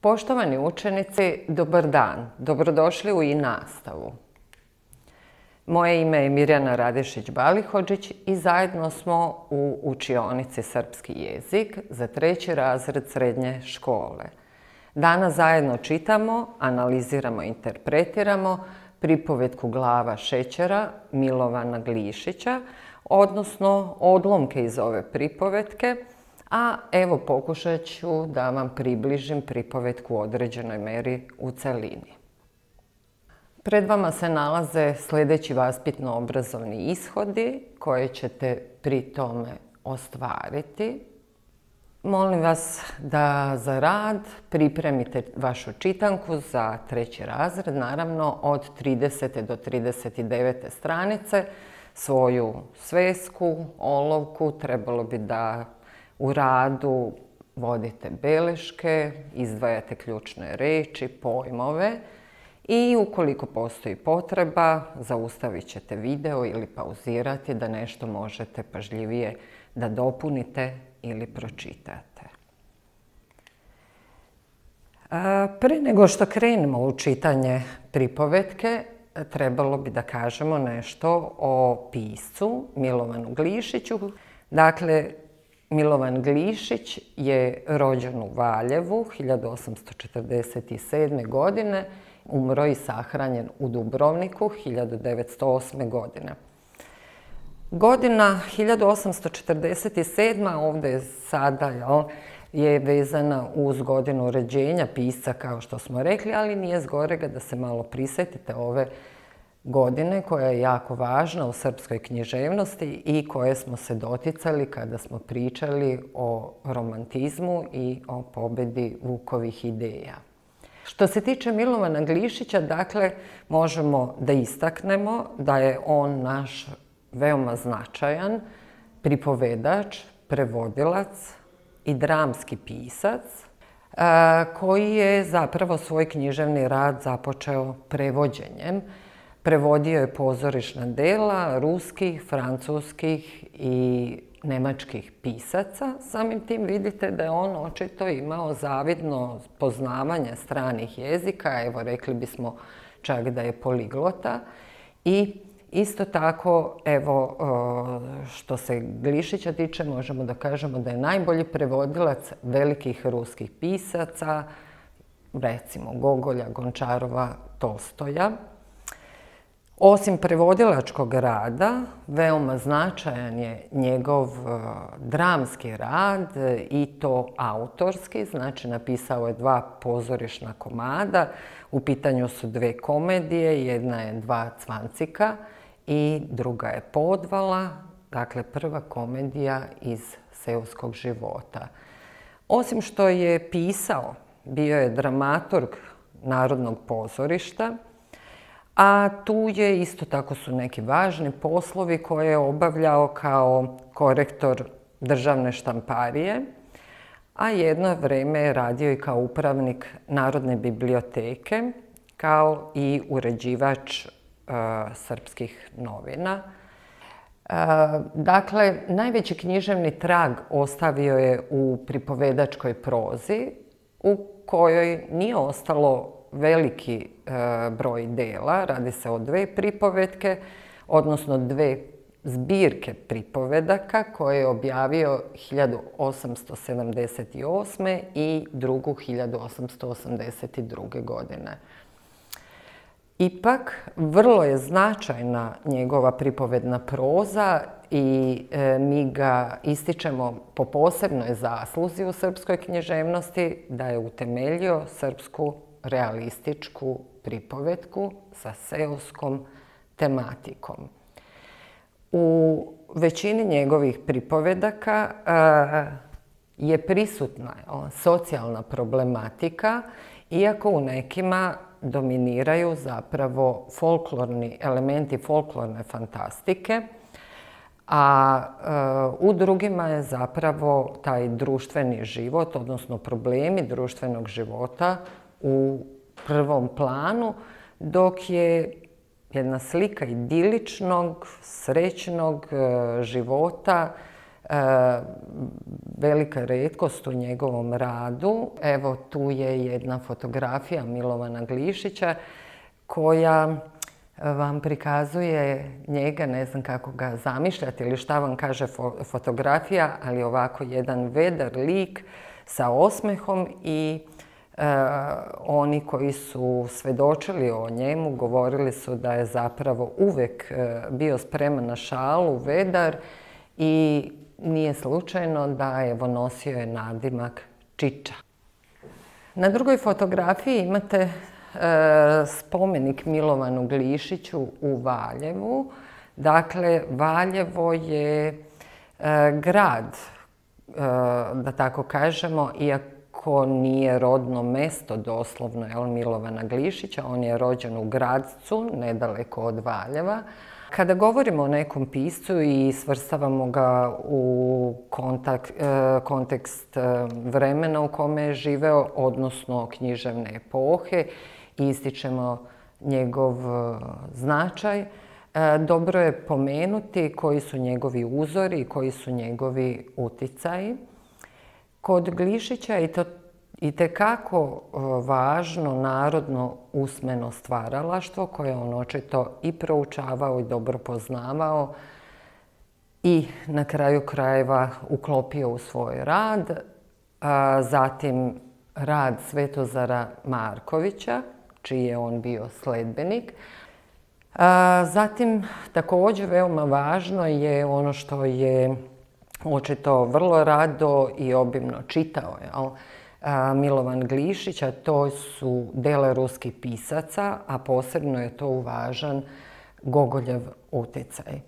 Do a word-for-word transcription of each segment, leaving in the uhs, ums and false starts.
Poštovani učenici, dobar dan, dobrodošli u i-nastavu. Moje ime je Mirjana Radišić-Balihođić i zajedno smo u učionici Srpski jezik za treći razred srednje škole. Danas zajedno čitamo, analiziramo i interpretiramo pripovetku Glava šećera Milovana Glišića, odnosno odlomke iz ove pripovetke, a evo pokušat ću da vam približim pripovetku u određenoj meri u celini. Pred vama se nalaze sljedeći vaspitno-obrazovni ishodi koje ćete pri tome ostvariti. Molim vas da za rad pripremite vašu čitanku za treći razred, naravno od tridesete do trideset devete stranice, svoju svesku, olovku, trebalo bi da u radu vodite beleške, izdvajate ključne reči, pojmove i ukoliko postoji potreba, zaustavit ćete video ili pauzirati da nešto možete pažljivije da dopunite ili pročitate. Pre nego što krenemo u čitanje pripovetke, trebalo bi da kažemo nešto o piscu Milovanu Glišiću. Dakle, Milovan Glišić je rođen u Valjevu hiljadu osamsto četrdeset sedme. godine, umro i sahranjen u Dubrovniku hiljadu devetsto osme. godine. Godina hiljadu osamsto četrdeset sedma. ovdje sada je vezana uz godinu rođenja pisca, kao što smo rekli, ali nije zgorega da se malo prisjetite ove godine koja je jako važna u srpskoj književnosti i koje smo se doticali kada smo pričali o romantizmu i o pobedi Vukovih ideja. Što se tiče Milovana Glišića, dakle, možemo da istaknemo da je on naš veoma značajan pripovedač, prevodilac i dramski pisac koji je zapravo svoj književni rad započeo prevođenjem. Prevodio je pozorišna dela ruskih, francuskih i nemačkih pisaca. Samim tim vidite da je on očito imao zavidno poznavanje stranih jezika, evo rekli bismo čak da je poliglota. I isto tako, evo, što se Glišića tiče, možemo da kažemo da je najbolji prevodilac velikih ruskih pisaca, recimo Gogolja, Gončarova, Tolstoja. Osim prevodilačkog rada, veoma značajan je njegov dramski rad i to autorski, znači napisao je dva pozorišna komada, u pitanju su dve komedije, jedna je Dva cvancika i druga je Podvala, dakle prva komedija iz seoskog života. Osim što je pisao, bio je dramaturg Narodnog pozorišta, a tu je isto tako su neki važni poslovi koje je obavljao kao korektor državne štamparije, a jedno vrijeme je radio i kao upravnik Narodne biblioteke, kao i uređivač e, srpskih novina. E, dakle, najveći književni trag ostavio je u pripovedačkoj prozi, u kojoj nije ostalo veliki e, broj dela, radi se o dve pripovetke, odnosno dve zbirke pripovedaka koje je objavio hiljadu osamsto sedamdeset osme. i drugu hiljadu osamsto osamdeset druge. godine. Ipak, vrlo je značajna njegova pripovedna proza i e, mi ga ističemo po posebnoj zasluzi u srpskoj književnosti da je utemeljio srpsku realističku pripovetku sa seoskom tematikom. U većini njegovih pripovedaka je prisutna socijalna problematika, iako u nekima dominiraju zapravo folklorni elementi folklorne fantastike, a u drugima je zapravo taj društveni život, odnosno problemi društvenog života u prvom planu, dok je jedna slika idiličnog, srećnog života velika retkost u njegovom radu. Evo, tu je jedna fotografija Milovana Glišića koja vam prikazuje njega, ne znam kako ga zamišljati ili šta vam kaže fotografija, ali ovako jedan vedar lik sa osmehom i e, oni koji su svedočili o njemu govorili su da je zapravo uvek e, bio spreman na šalu, vedar, i nije slučajno da evo nosio je nadimak Čiča. Na drugoj fotografiji imate e, spomenik Milovanu Glišiću u Valjevu. Dakle, Valjevo je e, grad, e, da tako kažemo, iako nije rodno mesto doslovno jel, Milovana Glišića, on je rođen u Gradcu, nedaleko od Valjeva. Kada govorimo o nekom piscu i svrstavamo ga u kontakt, kontekst vremena u kome je živeo, odnosno književne epohe, i ističemo njegov značaj, dobro je pomenuti koji su njegovi uzori i koji su njegovi uticaji. Kod Glišića je to itekako važno narodno usmeno stvaralaštvo koje on očito i proučavao i dobro poznavao i na kraju krajeva uklopio u svoj rad. Zatim rad Svetozara Markovića, čiji je on bio sledbenik. Zatim također veoma važno je ono što je očito vrlo rado i obimno čitao, jel? Milovan Glišić, a to su dela ruskih pisaca, a posebno je to uvažan Gogoljev utjecaj.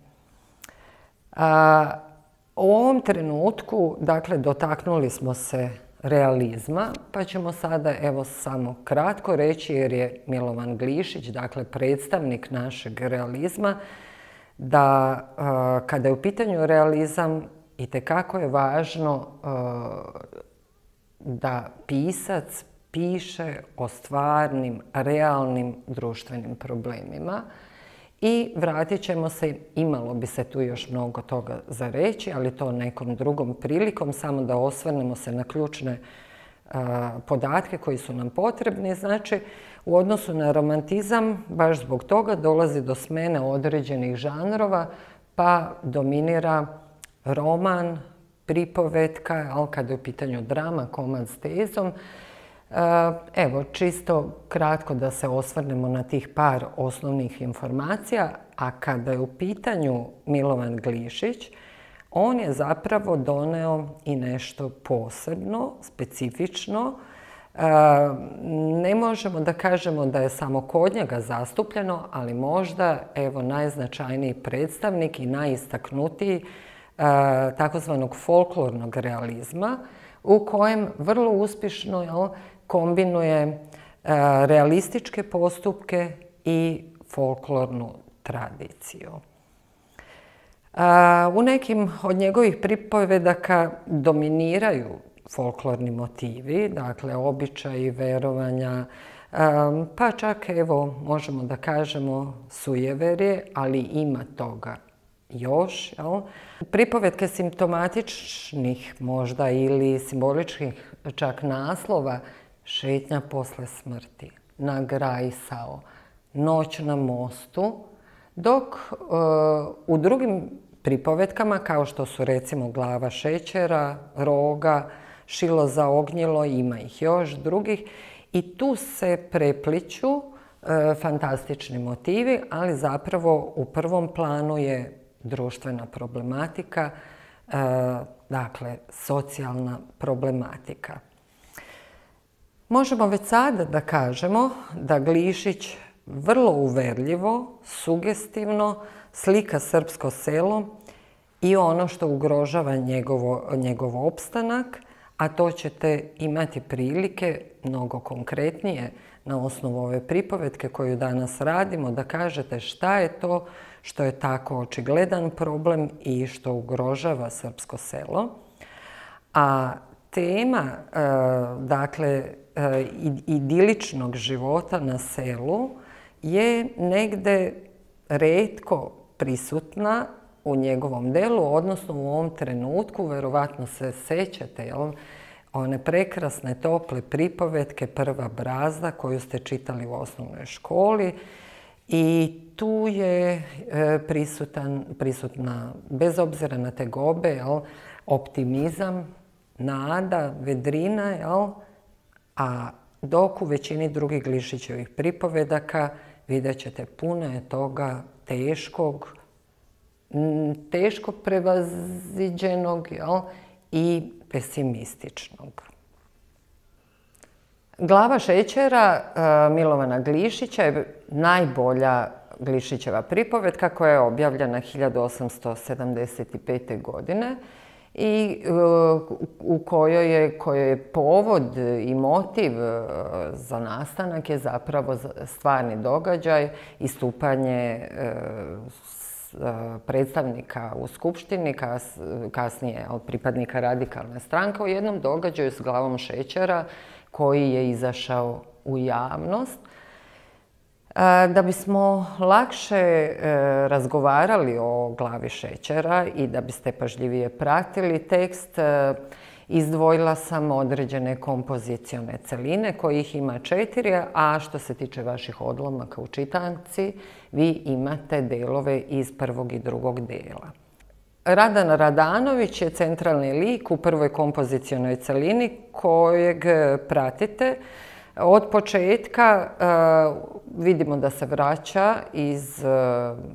U ovom trenutku, dakle, dotaknuli smo se realizma, pa ćemo sada evo samo kratko reći, jer je Milovan Glišić, dakle, predstavnik našeg realizma, da kada je u pitanju realizam, itekako je važno da pisac piše o stvarnim, realnim društvenim problemima. I vratit ćemo se, imalo bi se tu još mnogo toga za reći, ali to nekom drugom prilikom, samo da osvrnemo se na ključne a, podatke koji su nam potrebni. Znači, u odnosu na romantizam, baš zbog toga dolazi do smene određenih žanrova, pa dominira roman, pripovetka, ali kada je u pitanju drama, komad s tezom. Evo, čisto kratko da se osvrnemo na tih par osnovnih informacija, a kada je u pitanju Milovan Glišić, on je zapravo doneo i nešto posebno, specifično. Ne možemo da kažemo da je samo kod njega zastupljeno, ali možda, evo, najznačajniji predstavnik i najistaknutiji takozvanog folklornog realizma, u kojem vrlo uspješno jel, kombinuje realističke postupke i folklornu tradiciju. U nekim od njegovih pripovedaka dominiraju folklorni motivi, dakle običaji, verovanja, pa čak evo možemo da kažemo sujeverje, ali ima toga još. Jel? Pripovetke simptomatičnih možda ili simboličkih čak naslova: Šetnja posle smrti, Nagrajsao, Noć na mostu, dok uh, u drugim pripovetkama, kao što su recimo Glava šećera, Roga, Šilo za ognjilo, ima ih još drugih, i tu se prepliću uh, fantastični motivi, ali zapravo u prvom planu je društvena problematika, uh, dakle socijalna problematika. Možemo već sada da kažemo da Glišić vrlo uverljivo, sugestivno slika srpsko selo i ono što ugrožava njegovo, njegov opstanak, a to ćete imati prilike mnogo konkretnije na osnovu ove pripovetke koju danas radimo, da kažete šta je to što je tako očigledan problem i što ugrožava srpsko selo. A tema, dakle, idiličnog života na selu je negde retko prisutna u njegovom delu, odnosno u ovom trenutku, verovatno se sećate, jel, one prekrasne, tople pripovetke Prva brazda koju ste čitali u osnovnoj školi i tu je prisutan, prisutna, bez obzira na tegobe, jel, optimizam, nada, vedrina, jel, a dok u većini drugih Glišićevih pripovedaka vidjet ćete puno je toga teškog, teško prevaziđenog, jel, i pesimističnog. Glava šećera Milovana Glišića je najbolja Glišićeva pripovetka koja je objavljena hiljadu osamsto sedamdeset pete. godine i u kojoj je, kojoj je povod i motiv za nastanak je zapravo stvarni događaj, istupanje predstavnika u Skupštini, kasnije pripadnika Radikalne stranke, u jednom događaju s glavom šećera koji je izašao u javnost. Da bismo lakše razgovarali o glavi šećera i da biste pažljivije pratili tekst, izdvojila sam određene kompozicione celine kojih ima četiri, a što se tiče vaših odlomaka u čitanci, vi imate delove iz prvog i drugog dela. Radan Radanović je centralni lik u prvoj kompozicionoj celini kojeg pratite. Od početka vidimo da se vraća iz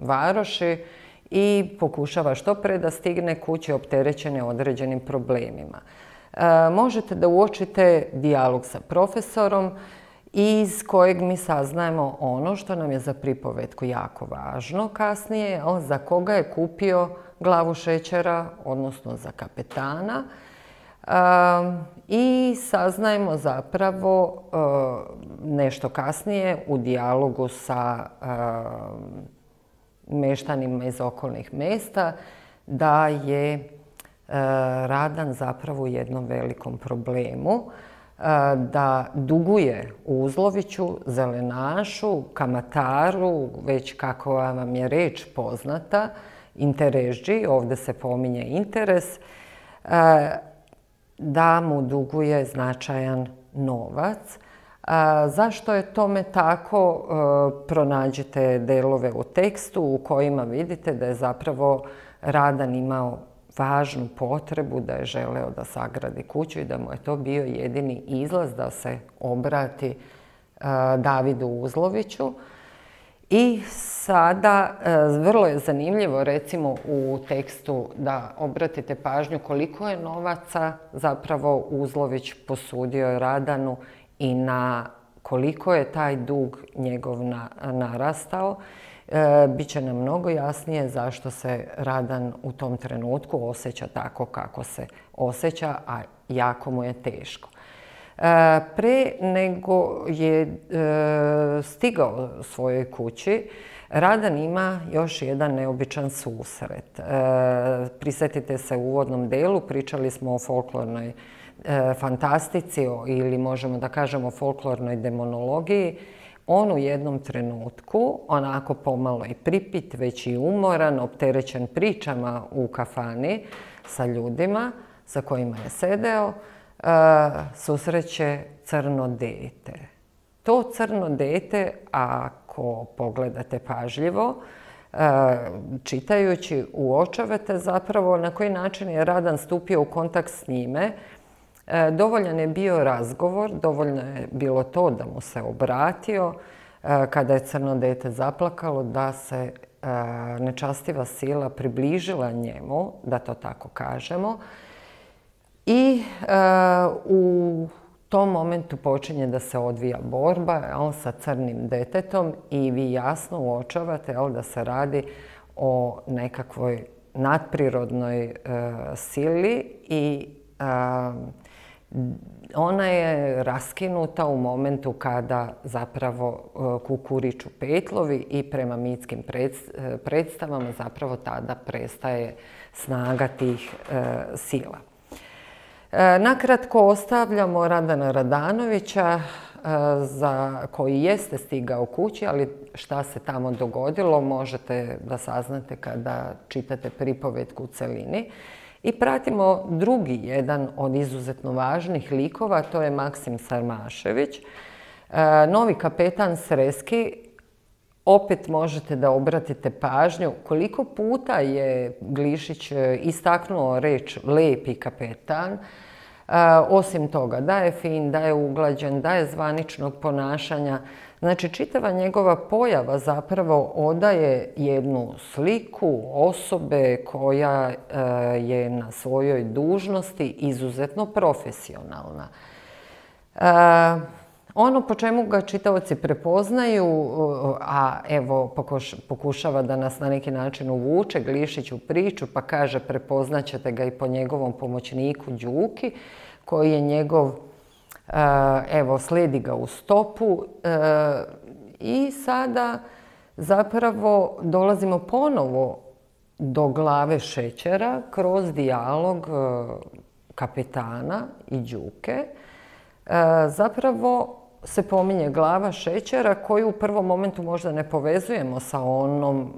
varoši i pokušava što pre da stigne kući opterećene određenim problemima. Možete da uočite dijalog sa profesorom iz kojeg mi saznajemo ono što nam je za pripovetku jako važno kasnije, za koga je kupio glavu šećera, odnosno za kapetana. I saznajemo zapravo nešto kasnije u dijalogu sa meštanima iz okolnih mesta da je Radan zapravo u jednom velikom problemu, da duguje Uzloviću, zelenašu, kamataru, već kako vam je reč poznata, interesđi, ovde se pominje interes, da mu duguje značajan novac. Zašto je tome tako? Pronađite delove u tekstu u kojima vidite da je zapravo Radan imao važnu potrebu, da je želeo da sagradi kuću i da mu je to bio jedini izlaz da se obrati Davidu Uzloviću. I sada, vrlo je zanimljivo recimo u tekstu da obratite pažnju koliko je novaca zapravo Uzlović posudio Radanu i na koliko je taj dug njegov narastao. Biće nam mnogo jasnije zašto se Radan u tom trenutku osjeća tako kako se osjeća, a jako mu je teško. Pre nego je stigao svojoj kući, Radan ima još jedan neobičan susret. Prisetite se u uvodnom delu, pričali smo o folklornoj fantastici ili možemo da kažemo folklornoj demonologiji. On u jednom trenutku, onako pomalo i pripit, već i umoran, opterećen pričama u kafani sa ljudima sa kojima je sedeo, susreće crno dete. To crno dete, ako pogledate pažljivo, čitajući, uočavate zapravo na koji način je Radan stupio u kontakt s njime. Dovoljan je bio razgovor, dovoljno je bilo to da mu se obratio kada je crno dete zaplakalo, da se nečastiva sila približila njemu, da to tako kažemo. I u tom momentu počinje da se odvija borba sa crnim detetom i vi jasno uočavate da se radi o nekakvoj nadprirodnoj sili i ona je raskinuta u momentu kada zapravo kukuriču petlovi i prema mitskim predstavama zapravo tada prestaje snaga tih sila. Nakratko ostavljamo Radana Radanovića za koji jeste stigao kući, ali šta se tamo dogodilo možete da saznate kada čitate pripovetku u celini. I pratimo drugi jedan od izuzetno važnih likova, to je Maksim Sarmašević. Novi kapetan Sreski, opet možete da obratite pažnju koliko puta je Glišić istaknuo reč lepi kapetan. Osim toga, da je fin, da je uglađen, da je zvaničnog ponašanja. Znači, čitava njegova pojava zapravo odaje jednu sliku osobe koja je na svojoj dužnosti izuzetno profesionalna. Ono po čemu ga čitaoci prepoznaju, a evo pokušava da nas na neki način uvuče Glišić u priču, pa kaže prepoznaćete ga i po njegovom pomoćniku Đuki, koji je njegov, evo, sledi ga u stopu. I sada zapravo dolazimo ponovo do glave šećera kroz dijalog kapetana i Đuke. Zapravo se pominje glava šećera koju u prvom momentu možda ne povezujemo sa onom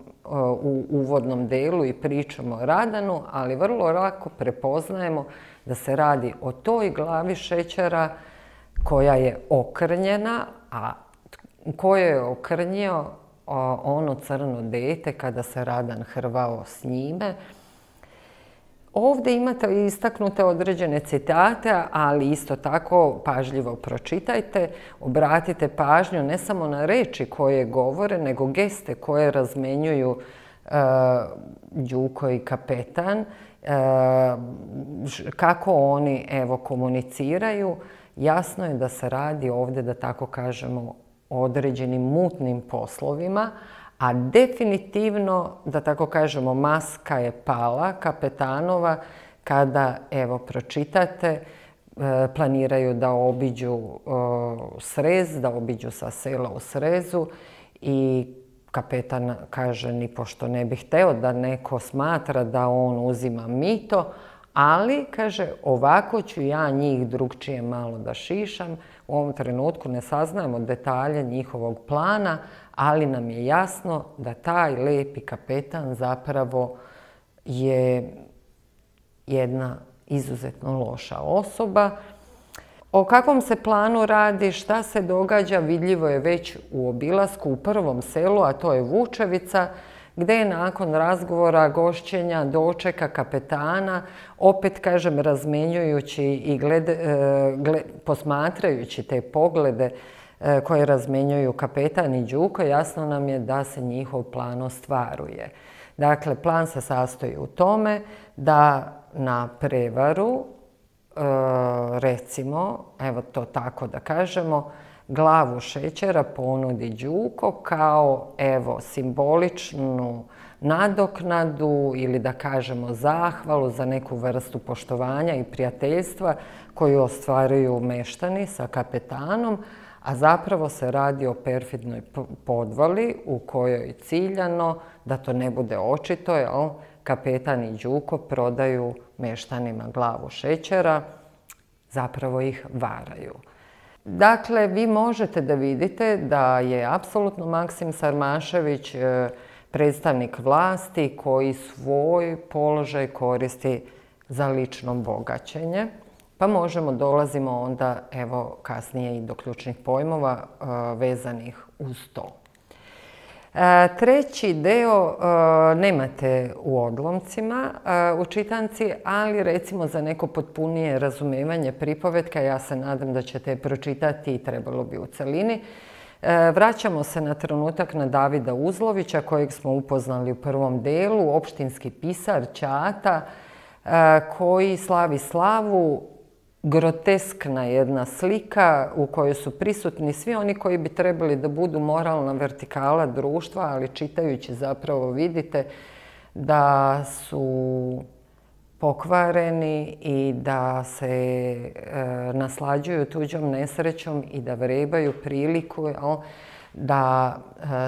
u uvodnom delu i pričamo o Radanu, ali vrlo lako prepoznajemo da se radi o toj glavi šećera koja je okrnjena, a koje je okrnjio ono crno dete kada se Radan hrvao s njime. Ovdje imate istaknute određene citate, ali isto tako pažljivo pročitajte, obratite pažnju ne samo na reči koje govore, nego geste koje razmenjuju Đuko i kapetan, kako oni, evo, komuniciraju. Jasno je da se radi ovdje, da tako kažemo, o određenim mutnim poslovima, a definitivno, da tako kažemo, maska je pala kapetanova kada, evo, pročitate, planiraju da obiđu Srez, da obiđu sa sela u Srezu i kapetan kaže ni pošto ne bi hteo da neko smatra da on uzima mito, ali, kaže, ovako ću ja njih drugčije malo da šišam. U ovom trenutku ne saznajemo detalje njihovog plana, ali nam je jasno da taj lepi kapetan zapravo je jedna izuzetno loša osoba. O kakvom se planu radi, šta se događa, vidljivo je već u obilasku u prvom selu, a to je Vučevica, gde je nakon razgovora, gošćenja, dočeka kapetana, opet, kažem, razmenjujući i posmatrajući te poglede koje razmenjuju kapetan i Đuko, jasno nam je da se njihov plan ostvaruje. Dakle, plan se sastoji u tome da na prevaru, recimo, evo to tako da kažemo, glavu šećera ponudi Đuko kao, evo, simboličnu nadoknadu ili da kažemo zahvalu za neku vrstu poštovanja i prijateljstva koju ostvaruju meštani sa kapetanom, a zapravo se radi o perfidnoj podvali u kojoj ciljano, da to ne bude očito, jel, kapetan i Đuko prodaju meštanima glavu šećera, zapravo ih varaju. Dakle, vi možete da vidite da je apsolutno Maksim Sarmašević predstavnik vlasti koji svoj položaj koristi za lično bogaćenje. Pa možemo, dolazimo onda, evo, kasnije i do ključnih pojmova vezanih uz to. Treći deo nemate u odlomcima u čitanci, ali recimo za neko potpunije razumevanje pripovetka, ja se nadam da ćete je pročitati i trebalo bi u celini. Vraćamo se na trenutak na Davida Uzlovića, kojeg smo upoznali u prvom delu, opštinski pisar Ćata, koji slavi slavu, groteskna jedna slika u kojoj su prisutni svi oni koji bi trebali da budu moralna vertikala društva, ali čitajući zapravo vidite da su pokvareni i da se naslađuju tuđom nesrećom i da vrebaju priliku da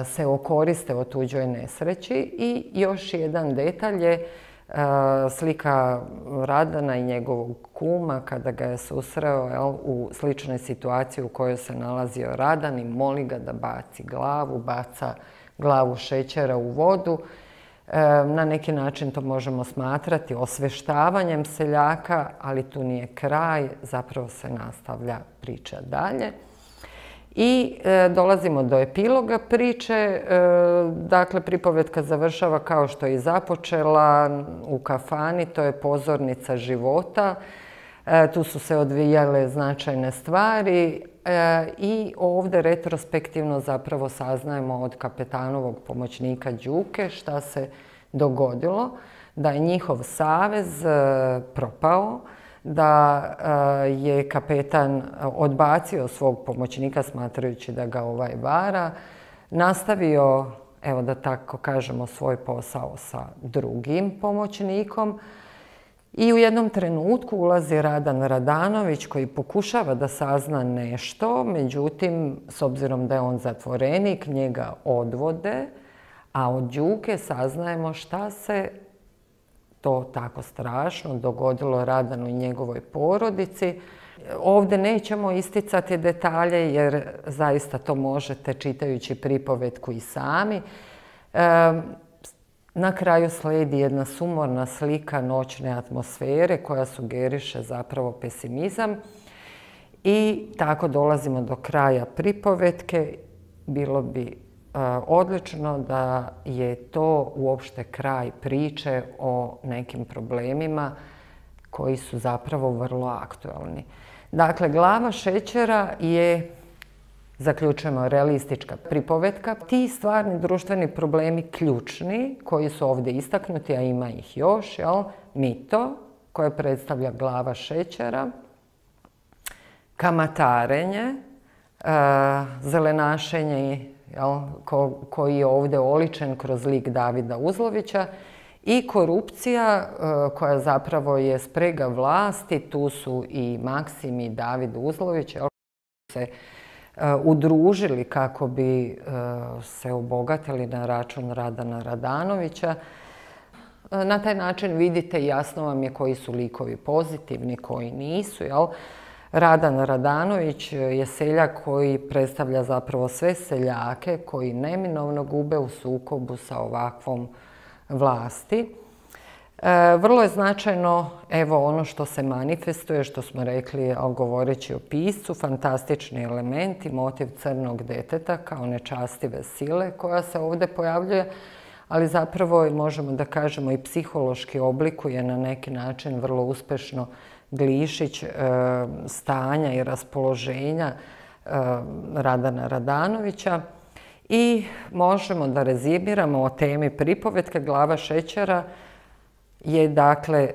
se okoriste o tuđoj nesreći. I još jedan detalj je slika Radana i njegovog kuma kada ga je susreo jel, u sličnoj situaciji u kojoj se nalazio Radan i moli ga da baci glavu, baca glavu šećera u vodu. Na neki način to možemo smatrati osveštavanjem seljaka, ali tu nije kraj, zapravo se nastavlja priča dalje. I e, dolazimo do epiloga priče, e, dakle pripovetka završava kao što je i započela u kafani, to je pozornica života, e, tu su se odvijale značajne stvari e, i ovdje retrospektivno zapravo saznajemo od kapetanovog pomoćnika Đuke šta se dogodilo, da je njihov savez e, propao, da je kapetan odbacio svog pomoćnika smatrajući da ga ovaj vara, nastavio, evo da tako kažemo, svoj posao sa drugim pomoćnikom i u jednom trenutku ulazi Radan Radanović koji pokušava da sazna nešto, međutim, s obzirom da je on zatvorenik, njega odvode, a od Đuke saznajemo šta se to tako strašno dogodilo Radanu i njegovoj porodici. Ovdje nećemo isticati detalje jer zaista to možete čitajući pripovetku i sami. E, na kraju slijedi jedna sumorna slika noćne atmosfere koja sugeriše zapravo pesimizam i tako dolazimo do kraja pripovetke. Bilo bi odlično da je to uopšte kraj priče o nekim problemima koji su zapravo vrlo aktualni. Dakle, Glava šećera je, zaključujemo, realistička pripovetka. Ti stvarni društveni problemi ključni koji su ovdje istaknuti, a ima ih još, jel? Mito koje predstavlja Glava šećera, kamatarenje, zelenašenje Ko, koji je ovdje oličen kroz lik Davida Uzlovića i korupcija koja zapravo je sprega vlasti, tu su i Maksim i David Uzlović koji su se udružili kako bi se obogatili na račun Radana Radanovića. Na taj način vidite, jasno vam je koji su likovi pozitivni, koji nisu, jel? Radan Radanović je seljak koji predstavlja zapravo sve seljake koji neminovno gube u sukobu sa ovakvom vlasti. E, vrlo je značajno, evo, ono što se manifestuje, što smo rekli, govoreći o piscu, fantastični elementi, motiv crnog deteta kao nečastive sile koja se ovdje pojavljuje, ali zapravo možemo da kažemo i psihološki oblikuje na neki način vrlo uspešno Glišić stanja i raspoloženja Radana Radanovića i možemo da rezimiramo o temi pripovetke. Glava šećera je dakle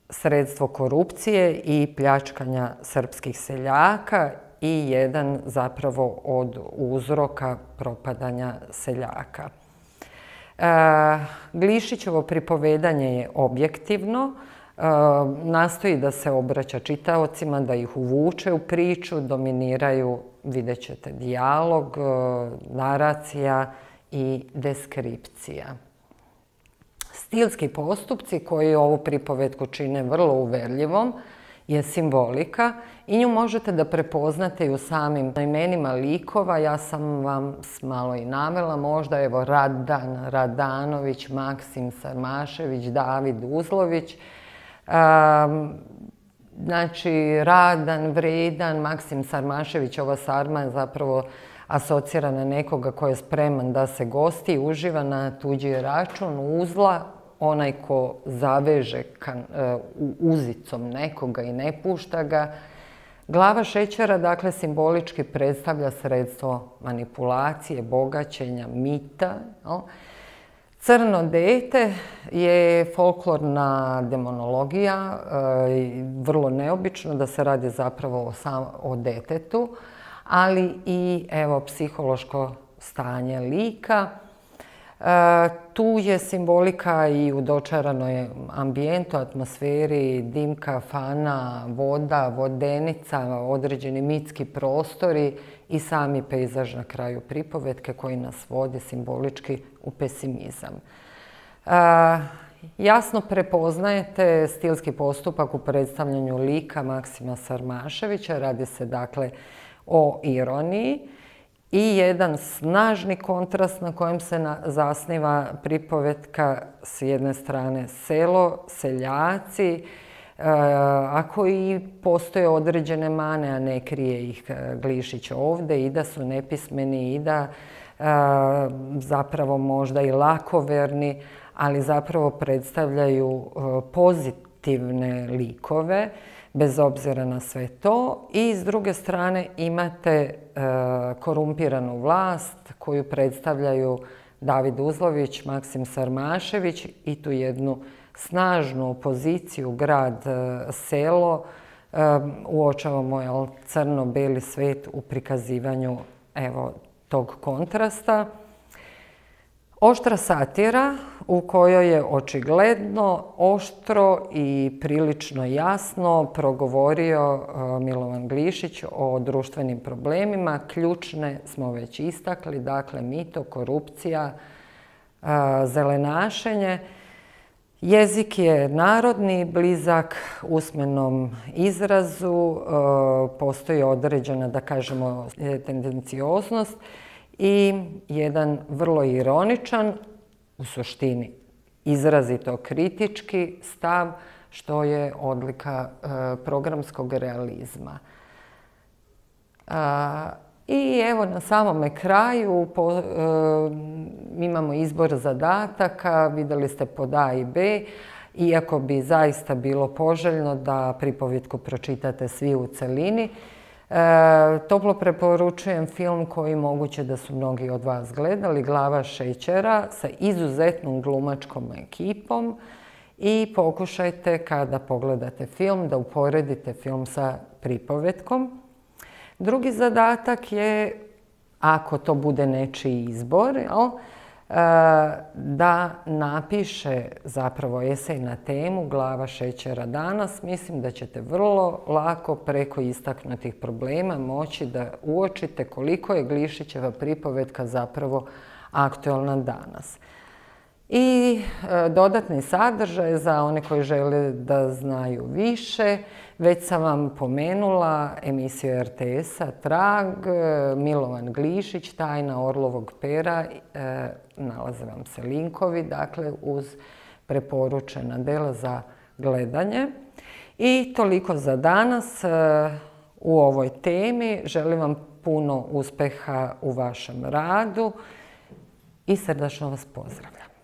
sredstvo korupcije i pljačkanja srpskih seljaka i jedan zapravo od uzroka propadanja seljaka. Glišićevo pripovedanje je objektivno, nastoji da se obraća čitaocima, da ih uvuče u priču, dominiraju, vidjet ćete, dijalog, naracija i deskripcija. Stilski postupci koji ovu pripovetku čine vrlo uverljivom je simbolika i nju možete da prepoznate i u samim imenima likova. Ja sam vam malo i navela, možda evo Radan Radanović, Maksim Sarmašević, David Uzlović. Um, znači, Radan, vredan, Maksim Sarmašević, ova sarma je zapravo asocira na nekoga ko je spreman da se gosti i uživa na tuđi račun, uzla, onaj ko zaveže kan, uh, uzicom nekoga i ne pušta ga. Glava šećera, dakle, simbolički predstavlja sredstvo manipulacije, bogaćenja, mita. No? Crno dete je folklorna demonologija, vrlo neobično da se radi zapravo o detetu, ali i evo psihološko stanje lika. Tu je simbolika i u dočaranoj ambijentu, atmosferi, dim kafana, voda, vodenica, određeni mitski prostori i sami pejzaž na kraju pripovetke koji nas vodi simbolički u pesimizam. jasno prepoznajete stilski postupak u predstavljanju lika Maksima Sarmaševića. Radi se dakle o ironiji i jedan snažni kontrast na kojem se zasniva pripovetka, s jedne strane selo, seljaci, a koji postoje određene mane, a ne krije ih Glišić ovde, i da su nepismeni i da zapravo možda i lakoverni, ali zapravo predstavljaju pozitivne likove, bez obzira na sve to. I s druge strane imate korumpiranu vlast koju predstavljaju David Uzlović, Maksim Sarmašević i tu jednu snažnu opoziciju grad-selo. Uočavamo crno-beli svet u prikazivanju evo tog kontrasta. Oštra satira u kojoj je očigledno, oštro i prilično jasno progovorio Milovan Glišić o društvenim problemima. Ključne smo već istakli, dakle mito, korupcija, zelenašenje. Jezik je narodni, blizak usmenom izrazu, postoji određena, da kažemo, tendencioznost i jedan vrlo ironičan, u suštini izrazito kritički stav, što je odlika programskog realizma. I evo na samome kraju imamo izbor zadataka, videli ste pod A i B, iako bi zaista bilo poželjno da pripovetku pročitate svi u celini. Toplo preporučujem film koji moguće da su mnogi od vas gledali, Glava šećera, sa izuzetnom glumačkom ekipom, i pokušajte kada pogledate film da uporedite film sa pripovetkom. Drugi zadatak je, ako to bude nečiji izbor, da napiše zapravo esej na temu Glava šećera danas. Mislim da ćete vrlo lako preko istaknutih problema moći da uočite koliko je Glišićeva pripovetka zapravo aktuelna danas. I dodatni sadržaj za one koji žele da znaju više. Već sam vam pomenula emisiju er te esa Trag, Milovan Glišić, Tajna orlovog pera, nalaze vam se linkovi, dakle, uz preporučena dela za gledanje. I toliko za danas u ovoj temi. Želim vam puno uspeha u vašem radu i srdačno vas pozdravljam.